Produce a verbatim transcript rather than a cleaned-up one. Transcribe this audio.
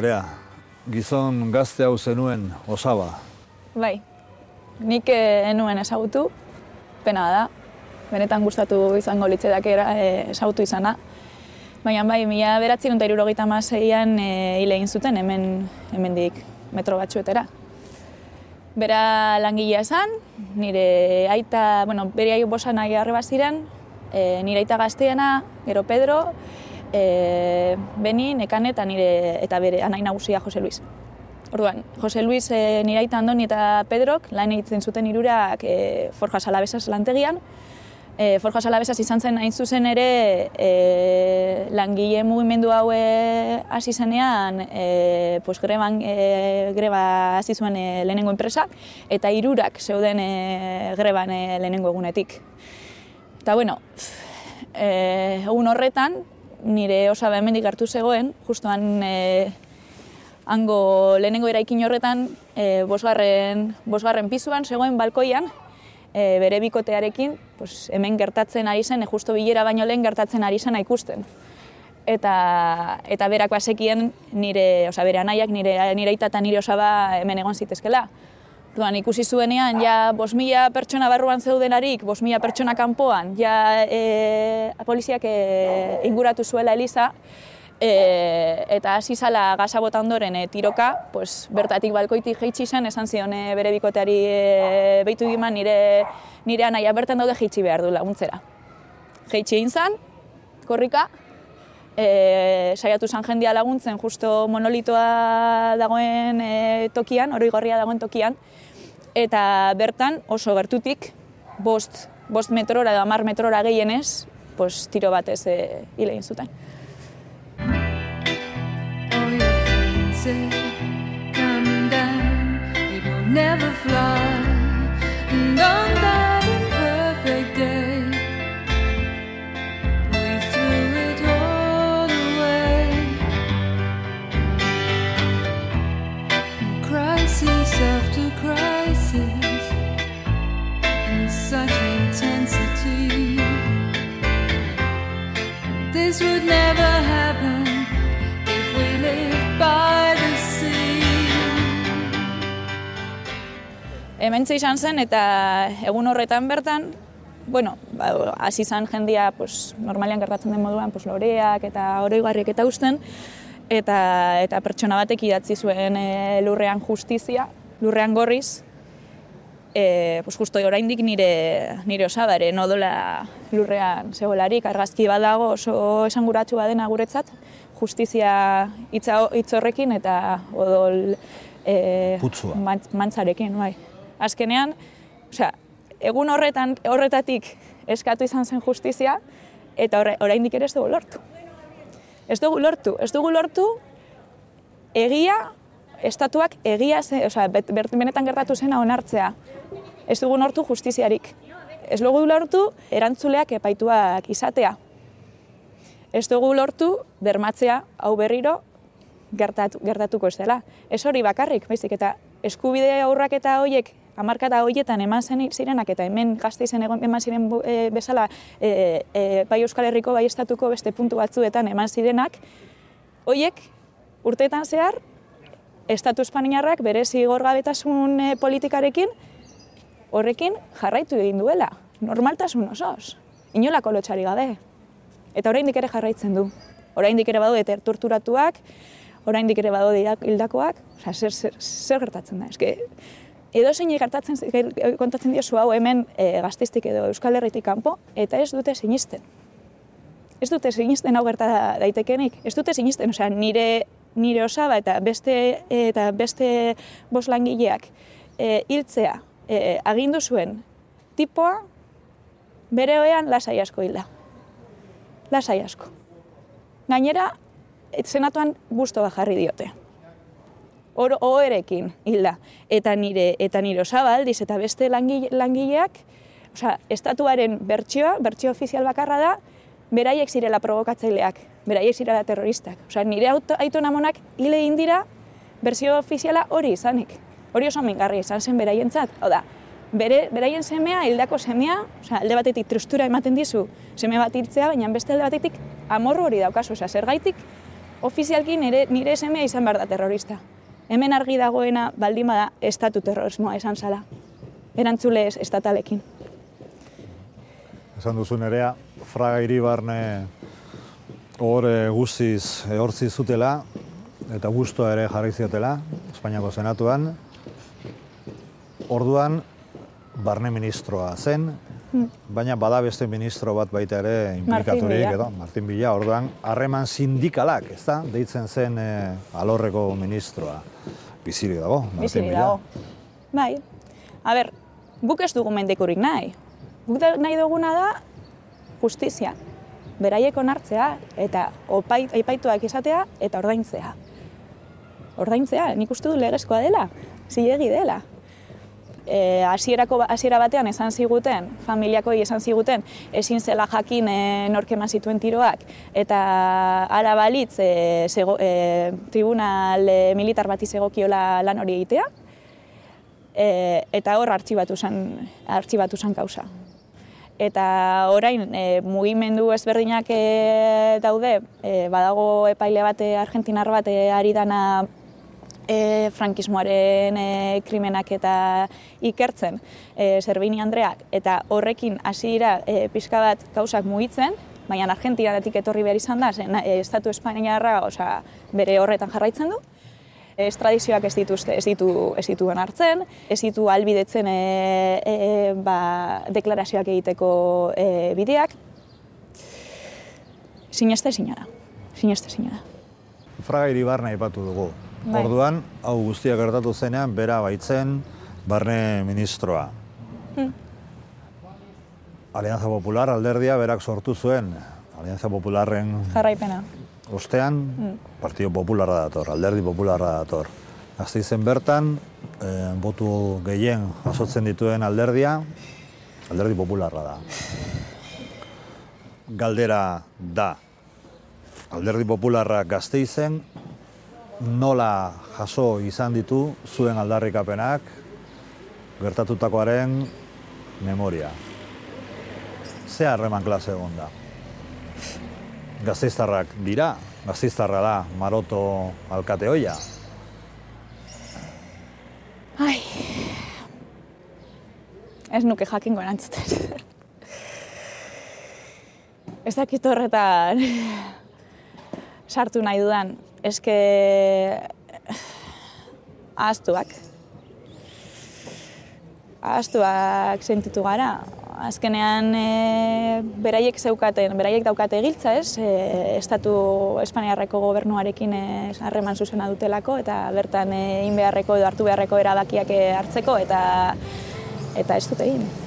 Nerea, gizon gazte hau zenuen osaba. Bai, nik enuen ezagutu, pena da. Benetan gustatu izango litzedak ezagutu izana. Baina bai, mila bederatziehun eta hirurogeita hamaseian hil egin zuten hemen hemendik metro batzuetara. Bera langilea esan, nire aita, bueno, bere aio bosan aia arreba ziren, e, nire aita gazteena, gero Pedro, e, Beni, Nekane eta nire eta bere anai nagusia Jose Luis. Orduan, Jose Luis, e, nire aita Andoni eta Pedrok lan egiten zuten hirurak e, Forjas Alavesas lantegian. E, Forjas Alavesas izan zen hain zuzen ere e, langile mugimendu hau hasi zenean e, pues, greban, e, greba hasi zuen e, lehenengo enpresa eta hirurak zeuden e, greban e, lehenengo egunetik. Eta bueno, e, egun horretan nire osaba hemendik hartu zegoen, justuan e, hango lehenengo eraikin horretan e, bosgarren, bosgarren pizuan zegoen balkoian, E, bere bikotearekin, pues, hemen gertatzen ari zen, e, justo bilera baino lehen gertatzen ari zen ikusten. Eta, eta berak bazekien nire, oza, bere anaiak, nire, nire aita eta nire osaba hemen egon zitezkela. Duan, ikusi zuenean, ja, bost mila pertsona barruan zeudelarik, bost mila pertsona kanpoan, ja, e, poliziak e, inguratu zuela Eliza, E, eta hasi zala gaza bota ondoren e, tiroka, pues, bertatik balkoitik jaitsi zen, esan zion e, bere bikoteari e, behitu diman nire, nire anaia bertan daude jaitsi behar du laguntzera. Jaitsi egin zen, korrika, e, saiatu zen jendia laguntzen justo monolitoa dagoen e, tokian, oroigorria dagoen tokian, eta bertan oso gertutik, bost, bost metrora edo hamar metrora gehienez, pues, tiro batez e, hil egin zuten. Come down, it will never fly. And on that imperfect day, we threw it all away. And crisis after crisis, in such intensity. This would never happen if we lived by the sea. Hementxe izan zen eta egun horretan bertan, bueno, hasi izan jendia, pues, normalean gertatzen den moduan, pues, loreak eta oroigarriak eta usten, eta, eta pertsona batek idatzi zuen e, lurrean justizia, lurrean gorriz, e, pues, justo oraindik nire, nire osaba ere nodola lurrean zegoelarik, argazki badago oso esanguratsu badena guretzat, justizia hitz horrekin eta odol e, mantzarekin, bai. Azkenean, osea, egun horretan horretatik eskatu izan zen justizia eta oraindik ere ez dugu lortu. Ez dugu lortu, ez dugu lortu egia, estatuak egia, osea, benetan gertatu zena onartzea. Ez dugu lortu justiziarik. Ez dugu lortu erantzuleak epaituak izatea. Ez dugu lortu bermatzea hau berriro gertatu, gertatuko ez dela. Ez hori bakarrik, baizik eta eskubide aurrak eta horiek hamarkada horietan eman zirenak eta hemen Gasteizen eman ziren e, bezala e, e, bai Euskal Herriko bai estatuko beste puntu batzuetan eman zirenak, horiek urteetan zehar Estatu Espainiarrak bere zigorgabetasun e, politikarekin horrekin jarraitu egin duela, normaltasun osoz, inolako lotxari gabe. Eta oraindik ere jarraitzen du. Oraindik ere badaude torturatuak, oraindik ere badaude hildakoak, osea, zer, zer, zer gertatzen da? Eske, edo zein gertatzen kontatzen diozu hau hemen e, Gasteiztik edo Euskal Herritik kanpo, eta ez dute sinisten. Ez dute sinisten hau gerta daitekenik, ez dute sinisten, osea, nire, nire osaba eta beste, eta beste bost langileak e, hiltzea e, agindu zuen tipoa bere oean lasai asko hilda. Lasai asko. Gainera, senatuan bustoa jarri diote. Oherekin hilda. Eta nire, eta nire osaba aldiz eta beste langile, langileak, osea, estatuaren bertsioa, bertsio ofizial bakarra da, beraiek zirela provokatzaileak, beraiek zirela terroristak. Osea, nire aitona amonak hil egin dira bertsio ofiziala hori izanik. Hori oso mingarri izan zen beraientzat. Hau da, bere, beraien semea, hildako semea, osea, alde batetik tristura ematen dizu seme bat hiltzea, baina beste alde batetik amorru hori daukazu. Osea, zergaitik ofizialki nire, nire semea izan behar da terrorista. Hemen argi dagoena baldin bada estatu terrorismoa esan zala. Erantzule ez estatalekin. Esan duzu nerea, Fraga Iribarne hor guztiz ehortzi zutela, eta guztua ere jarri ziotela, Espainiako Senatuan. Orduan, barne ministroa zen, baina bada beste ministro bat baita ere implikaturik, edo, Martin Villa, orduan, harreman sindikalak, ez da, deitzen zen e, alorreko ministroa. Bizirik dago, Martin Villa. Dago. Bai, a ber, guk ez dugu mendekurik nahi. Guk nahi duguna da justizia. Beraiek onartzea eta opait, aipaituak izatea eta ordaintzea. Ordaintzea, nik uste du legezkoa dela, zilegi dela. E, hasierako hasiera batean esan ziguten, familiakoi esan ziguten, ezin zela jakin e, nork eman zituen tiroak, eta hala balitz e, zego, e, tribunal e, militar bati zegokiola lan hori egitea, e, eta hor artxibatu zen, artxibatu zen kausa. Eta orain e, mugimendu ezberdinak e, daude, e, badago epaile bate argentinar bat e, ari dana E, frankismoaren e, krimenak eta ikertzen, e, Servini Andreak, eta horrekin hasi dira e, pixka bat gauzak mugitzen, baina Argentinatik etorri behar izan da, zen, e, Estatu Espainiarra osea, bere horretan jarraitzen du. Estradizioak ez dituzte, ez ditu, ez dituen hartzen, ez ditu ahalbidetzen e, e, ba, deklarazioak egiteko e, bideak. Sineste zinara, sineste zinara. Fraga Iribarne aipatu dugu. Bai. Orduan, hau guztia gertatu zenean, bera baitzen barne ministroa. Hmm. Alianza Popular alderdia berak sortu zuen. Alianza Popularren jarraipena. Ostean, hmm. Partido Popularra dator, alderdi Popularra dator. Gasteizen bertan, eh, botu gehien jasotzen dituen alderdia, alderdi Popularra da. Galdera da, alderdi Popularra Gasteizen, nola jaso izan ditu zuen aldarrikapenak gertatutakoaren memoria. Ze harreman klase egon da? Gasteiztarrak dira, Gasteiztarra da Maroto alkate ohia. Ai, ez nuke jakingo erantzuten. Ez dakit horretan sartu nahi dudan. Eske ahaztuak. Ahaztuak sentitu gara. Azkenean e, beraiek zeukaten, beraiek daukate giltza, ez? E, Estatu Espainiarreko gobernuarekin harreman zuzena dutelako eta bertan egin beharreko edo hartu beharreko erabakiak hartzeko eta eta ez dute egin.